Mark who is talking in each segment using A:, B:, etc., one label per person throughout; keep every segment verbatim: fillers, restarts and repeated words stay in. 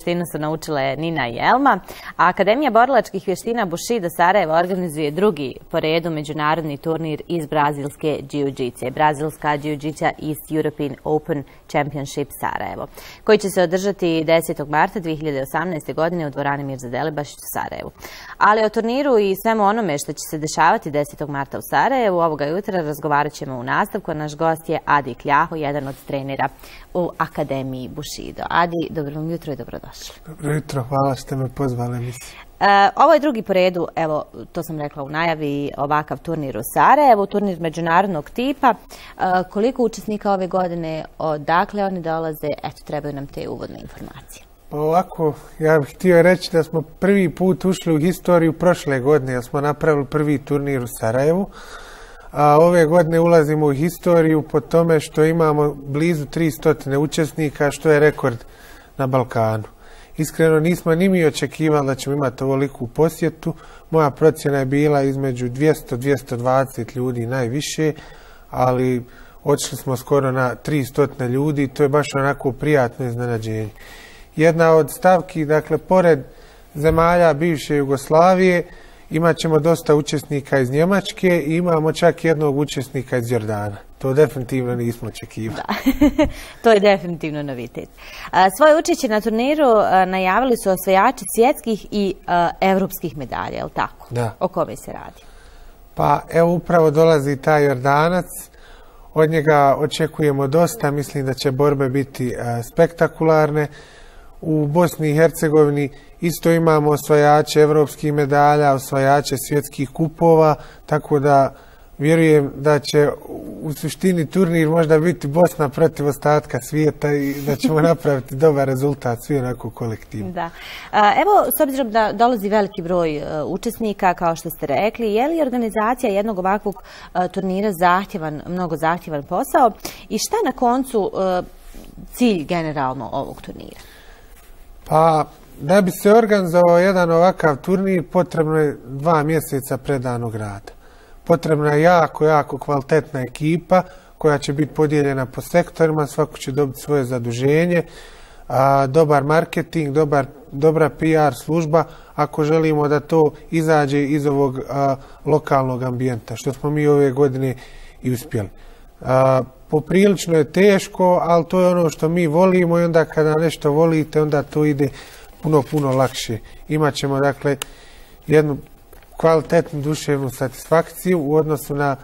A: vještinu su naučile Nina i Elma, a Akademija borilačkih vještina Bushido Sarajevo organizuje drugi po redu međunarodni turnir iz brazilske jiu-jitsu, brazilska jiu-jitsu East European Open Championship Sarajevo, koji će se održati desetog marta dvije hiljade osamnaeste. godine u dvorani Mirza Delibašić u Sarajevu. Ali o turniru i svemu onome što će se dešavati desetog marta u Sarajevu ovoga jutra razgovarat ćemo u nastavku. Naš gost je Adi Kljaho, jedan od trenera u Akademiji Bushido. Adi, dobro vam jutro i dobrodošli.
B: Dobro jutro, hvala što ste me pozvali.
A: E, ovo je drugi po redu, evo, to sam rekla u najavi, ovakav turnir u Sarajevu, turnir međunarodnog tipa. E, koliko učesnika ove godine, odakle oni dolaze, eto, trebaju nam te uvodne informacije.
B: Pa ovako, ja bih htio reći da smo prvi put ušli u historiju prošle godine, jer smo napravili prvi turnir u Sarajevu. A ove godine ulazimo u historiju po tome što imamo blizu tristo učesnika, što je rekord na Balkanu. Iskreno nismo ni mi očekivali da ćemo imati ovoliku posjetu. Moja procjena je bila između dvjesto do dvjesto dvadeset ljudi najviše, ali otišli smo skoro na tristo ljudi i to je baš onako prijatno iznenađenje. Jedna od stavki, dakle, pored zemalja bivše Jugoslavije, imat ćemo dosta učesnika iz Njemačke i imamo čak jednog učesnika iz Jordana. To definitivno nismo očekivali.
A: Da, to je definitivno novitet. Svoje učešće na turniru najavili su osvajači svjetskih i evropskih medalja, je li tako?
B: Da.
A: O kome se radi?
B: Pa evo upravo dolazi taj Jordanac. Od njega očekujemo dosta. Mislim da će borbe biti spektakularne. U Bosni i Hercegovini isto imamo osvajače evropskih medalja, osvajače svjetskih kupova, tako da vjerujem da će u suštini turnir možda biti Bosna protiv ostatka svijeta i da ćemo napraviti dobar rezultat svi onako kolektivno.
A: Da. Evo, s obzirom da dolazi veliki broj učesnika, kao što ste rekli, je li organizacija jednog ovakvog turnira zahtjevan, mnogo zahtjevan posao i šta je na koncu cilj generalno ovog turnira?
B: Pa, da bi se organizovao jedan ovakav turnir, potrebno je dva mjeseca predanog rada. Potrebna je jako, jako kvalitetna ekipa koja će biti podijeljena po sektorima, svako će dobiti svoje zaduženje, a, dobar marketing, dobar, dobra P R služba, ako želimo da to izađe iz ovog a, lokalnog ambijenta, što smo mi ove godine i uspjeli. A, Poprilično je teško, ali to je ono što mi volimo i onda kada nešto volite, onda to ide puno, puno lakše. Imaćemo, dakle, jednu kvalitetnu duševnu satisfakciju u odnosu na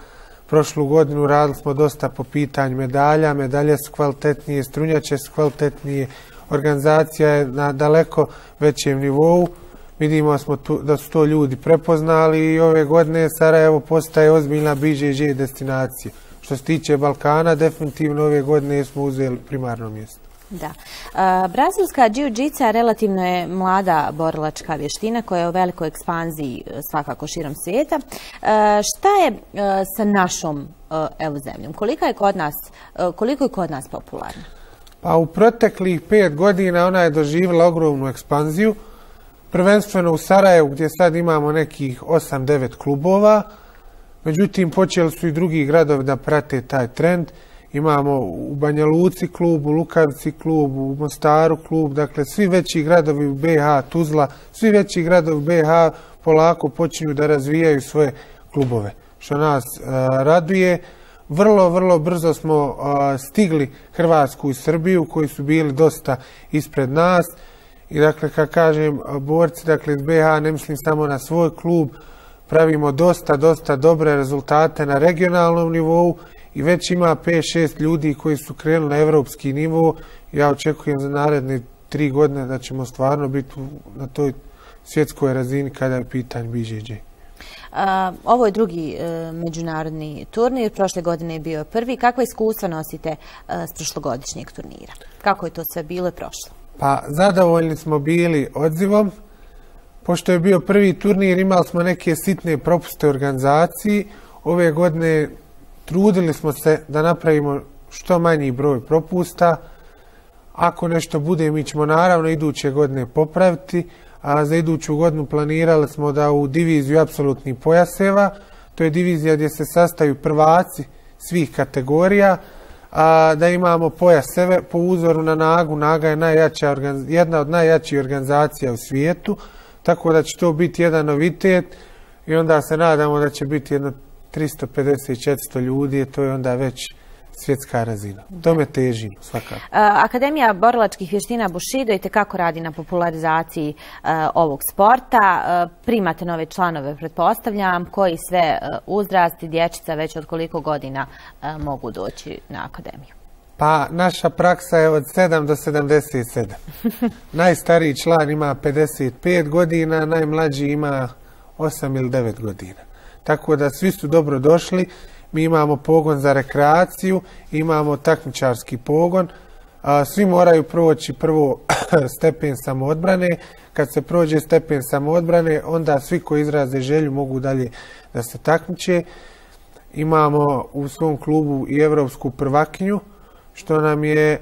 B: prošlu godinu. Radili smo dosta po pitanju medalja, medalje su kvalitetnije, strunjače su kvalitetnije, organizacija je na daleko većem nivou. Vidimo smo tu, da su to ljudi prepoznali i ove godine Sarajevo postaje ozbiljna B J J destinacija. Što se tiče Balkana, definitivno ove godine smo uzeli primarno mjesto.
A: Da. Brazilska jiu-jitsu relativno je mlada borilačka vještina koja je u velikoj ekspanziji svakako širom svijeta. Šta je sa našom evo zemljom? Koliko je kod nas, koliko je kod nas popularna?
B: Pa u proteklih pet godina ona je doživjela ogromnu ekspanziju. Prvenstveno u Sarajevu gdje sad imamo nekih osam devet klubova. Međutim, počeli su i drugi gradovi da prate taj trend. Imamo u Banja Luci klub, u Lukavici klub, u Mostaru klub, dakle svi veći gradovi u B H, Tuzla, svi veći gradovi u B H polako počinju da razvijaju svoje klubove, što nas uh, raduje. Vrlo, vrlo brzo smo uh, stigli Hrvatsku i Srbiju, koji su bili dosta ispred nas. I dakle, kad kažem borci, dakle iz B H ne mislim samo na svoj klub, pravimo dosta, dosta dobre rezultate na regionalnom nivou i već ima pet šest ljudi koji su krenuli na evropski nivo. Ja očekujem za naredne tri godine da ćemo stvarno biti na toj svjetskoj razini kada je pitanje B J J.
A: Uh, ovo je drugi uh, međunarodni turnir, prošle godine je bio prvi. Kakva iskustva nosite uh, s prošlogodišnjeg turnira? Kako je to sve bilo i prošlo?
B: Pa zadovoljni smo bili odzivom. Pošto je bio prvi turnir, imali smo neke sitne propuste u organizaciji. Ove godine trudili smo se da napravimo što manji broj propusta. Ako nešto bude, mi ćemo naravno iduće godine popraviti. A za iduću godinu planirali smo da u diviziju apsolutnih pojaseva, to je divizija gdje se sastaju prvaci svih kategorija, a, da imamo pojaseve po uzoru na Nagu. Naga je najjača, jedna od najjačih organizacija u svijetu, tako da će to biti jedan novitet i onda se nadamo da će biti jedno tristo pedeset do četiristo ljudi, to je onda već svjetska razina. Tome težimo svakako.
A: Akademija borilačkih vještina Bushido itekako radi na popularizaciji ovog sporta. Primate nove članove, pretpostavljam, koji sve uzrasti dječica već od koliko godina mogu doći na akademiju?
B: Pa naša praksa je od sedam do sedamdeset sedam. Najstariji član ima pedeset pet godina, najmlađi ima osam ili devet godina. Tako da svi su dobro došli. Mi imamo pogon za rekreaciju, imamo takmičarski pogon. Svi moraju proći prvo stepen samoodbrane. Kad se prođe stepen samoodbrane, onda svi koji izraze želju mogu dalje da se takmiče. Imamo u svom klubu i evropsku prvakinju, što nam je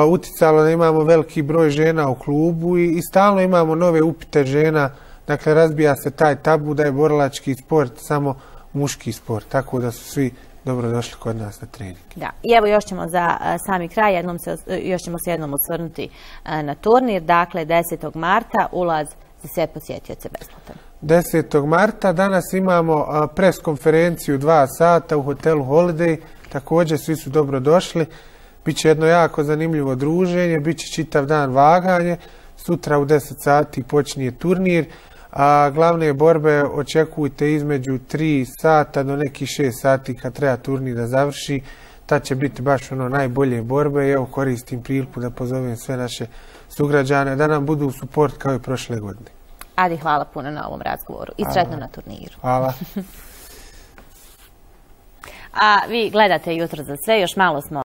B: uticalo da imamo veliki broj žena u klubu i stalno imamo nove upite žena. Dakle, razbija se taj tabu da je borilački sport samo muški sport, tako da su svi dobro došli kod nas na trening.
A: Da, i evo još ćemo za sami kraj, jednom se, još ćemo se jednom osvrnuti na turnir. Dakle, desetog marta ulaz za sve posjetioce besplatan.
B: desetog marta danas imamo pres konferenciju dva sata u hotelu Holiday, također svi su dobro došli. Biće jedno jako zanimljivo druženje, bit će čitav dan vaganje, sutra u deset sati počinje turnir. A glavne borbe očekujte između tri sata do nekih šest sati kad treba turnir da završi. Tad će biti baš ono najbolje borbe i evo koristim priliku da pozovem sve naše sugrađane da nam budu u suport kao i prošle godine.
A: Adi, hvala puno na ovom razgovoru i sretno na turniru.
B: Hvala.
A: A vi gledate Jutro za sve, još malo smo